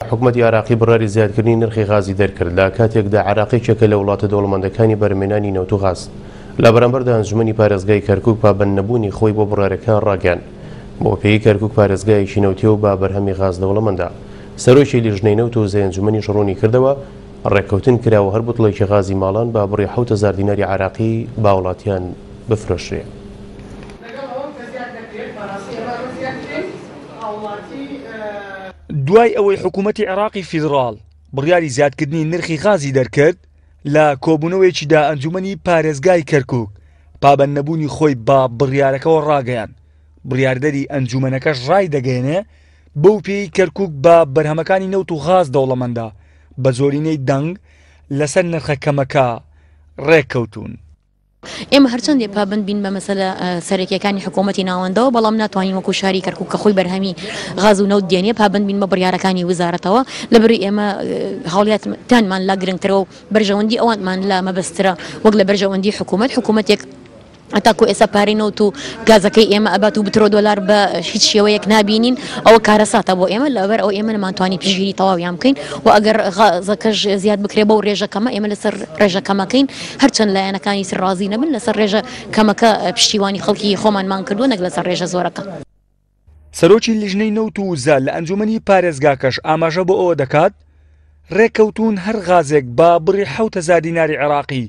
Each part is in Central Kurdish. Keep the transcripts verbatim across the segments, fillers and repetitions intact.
حکومەتی عێراقی بڕیاری زیادکردنی نرخی غازی دەرکرد لە کاتێکدا عێراق یەکێکە لە وڵاتە دەوڵەمەندەکانی بەرهەمهێنانی نەوت و غاز. لە بەرامبەردا ئەنجومەنی پارێزگای کەرکوک پابەند نەبوونی خۆی بۆ بڕیارەکە ڕاگەیاند. بۆ پێی کەرکوک پارێزگایەکی نەوتیە و بە بەرهەمی غاز دەوڵەمەندە. سەرۆکی لیژنەی نەوت و وزەی ئەنجومەنیش ڕوونی کردەوە ڕێککەوتن کراوە هەر بوتڵێکی غازی ماڵان بە بڕی حەوت هەزار دیناری عێراقی بە وڵاتیان بفرۆشرێ. دوای ئەوەی حکوومەتی عێراقی فیدراڵ بڕیاری زیادکردنی نرخی غازی دەرکرد، لە کۆبوونەوەیەکیدا ئەنجومەنی پارێزگای کەرکوک پابەند نەبوونی خۆی بە بڕیارەکەوە ڕاگەیاند. بڕیاردەری ئەنجومەنەکەش ڕای دەگەیەنێ بەو پێی کەرکوک بە بەرهەمەکانی نەوت و غاز دەوڵەمەندە، بە زۆرینەی دەنگ لەسەر نرخە کەمەکە ڕێککەوتون. ئێمە هەرچەندێ پابند بین بە مەسەلە سەرەکیەکانی حکوومەتی ناوەندەوە، بەڵام ناتوانین وەکو شاری کەرکوک کە خۆی بەرهەمی غاز و نەوت دێنێ پابند بین بە بڕیارەکانی وزارەتەوە. لەبەری ئێمە هاوڵاتیانمان لا گرنگترە و بەرژەوەندی ئەوانمان لا مەبەسترە وەک لە بەرژەوەندی حکوومەت. حکوومەتێک هەتاکو ئێستا پارەی نەوت و گازەکەی ئێمە ئەبات و بترۆ دۆلار بە هیچ شێوەیەک نابینین، ئەوە کارەساتە بۆ ئێمە. لەبەر ئەو ئێمە نەمانتوانی پشتگیری تەواویان بکەین و ئەگەر غازەکەش زیاد بکرێ بەو ڕێژە کەمە ئێمە لەسەر ڕێژە کەمەکەین، هەرچەند لایەنەکانی سەر ڕازی نەبن لەسەر ڕێژە کەمەکە پشتیوانی خەڵکی خۆمانمان کردووە نەک لەسەر ڕێژە زۆرەکە. سەرۆکی لیژنەی نەوت و وزە لە ئەنجومەنی پارێزگاکەش ئاماژە بۆ ئەوە دەکات ڕێککەوتون هەر غازێک بە بڕی حەوت هەزار دیناری عێراقی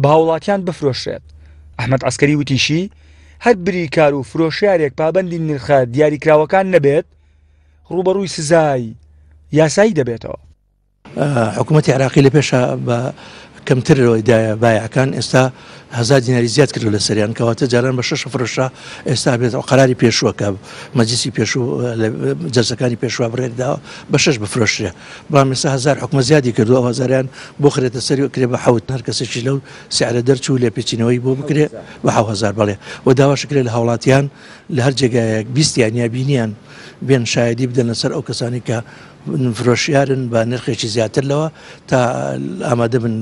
بە هاوڵاتیان بفرۆشرێت. ئەحمەد عەسکەری وتیشی هەر بریکار و فرۆشیارێک پابەندی نرخە دیاریکراوەکان نەبێت ڕووبەڕووی سزای یاسایی دەبێتەوە. حکوومەتی عێراقی لە پێشە بە کەمتر دایە بایەکان ئێستا هەزار دیناری زیاد کردو لە سەریان، کەواتە جاران بە شەش فرۆشە ئێستا بێت قەراری پێشووە کە مەجلیسی پێشوو جەلسەکانی پێشوە بڕێداوە بە شەش بفرۆشرێ، بەڵام ئێستا هەزار حکومە زیادی کردو ئەو هەزاریان بۆ خرێتە سەری کرێ بە حەوت، هەر کەسێکی لەو سعرە دەرچوو لێپێچینەوەی بۆ بکرێ بە حەوت هەزار بەڵێ. و داواش کرێ لە هاوڵاتیان لە هەر جێگایەک بیستیان یا بینیان بێن شایدی بدەن لەسەر ئەو کەسانی کە فرۆشیارن بە نرخێکی زیاتر لەوە تا ئامادە بن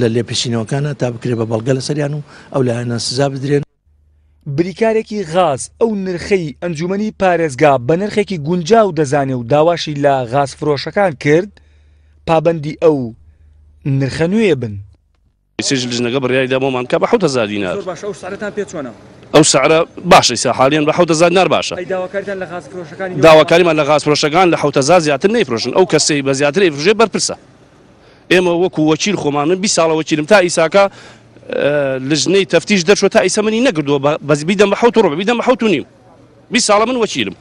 لە لێپێچینەوەکانە تا بکرێ بە بەڵگە لەسەریان و ئەو لایەنە سزا بدرێن. بریکارێکی غاز ئەو نرخەی ئەنجومەنی پارێزگا بە نرخێکی گونجاو دەزانێ و داواشی لە غاز فرۆشەکان کرد پابەندی ئەو نرخە نوێ بن. سێژ لیژنەکە بڕیاری دا بۆمان کە بە حەوت هەزار دینار. زۆر باشە، ئەو سعرەتان پێ چۆنە؟ ئەو سعرە باشە ئێستا حالیان بە حەوت هەزار دینار باشە. ئەی داواکاریتان لە غاز فرۆشەکانی؟ داواکاریمان لە غاز فرۆشەکان لە حەوت هەزار زیاتر نەیفرۆشن، ئەو کەسەی بە زیاتر ئەیفرۆشێ بەرپرسە. ئێمە وەکو وەکیل خۆمان من بیست ساڵە وەکیلم، تا ئیساکە لژنەی تەفتیش دەرچوە تا ئیسا منی نەکردووە بەس بیدەم بە حەوت و ڕبع، بیدەم بە حەوت و نیم. بیست ساڵە من وەکیلم،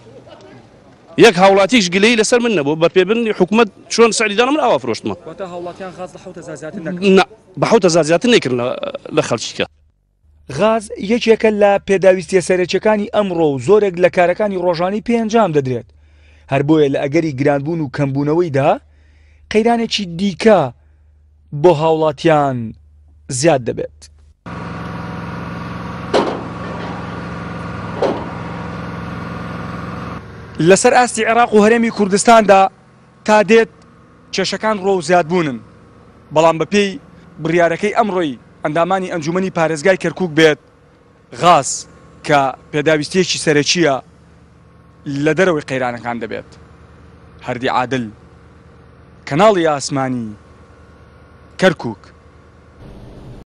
یەک هاوڵاتیش گلەیی لەسەر من نەبوو بە پێبنی حکوومەت چۆن سعری دانا من ئاوا فرۆشتمە. واتە هاوڵاتیان غاز لە حەوت هەزار زیاتر نەکرد؟ نا، بە حەوت هەزار زیاتر نەیکردن لە خەڵکیکە. غاز یەکێکە لە پێداویستیە سەرەکیەکانی ئەمڕۆ و زۆرێک لە کارەکانی ڕۆژانەی پێ ئەنجام دەدرێت، هەر بۆیە لە ئەگەری گرانبوون و کەمبوونەوەیدا قەیرانێکی دیکە بۆ هاوڵاتیان زیاد دەبێت. لەسەر ئاستی عێراق و هەرێمی کوردستاندا تا دێت کێشەکان ڕۆ و زیادبوونن، بەڵام بەپێی بڕیارەکەی ئەمڕۆی ئەندامانی ئەنجومەنی پارێزگای کەرکوک بێت، غاز کە پێداویستیەکی سەرەکیە لە دەرەوەی قەیرانەکان دەبێت. هەردی عادل، کەناڵی ئاسمانی، کەرکوک.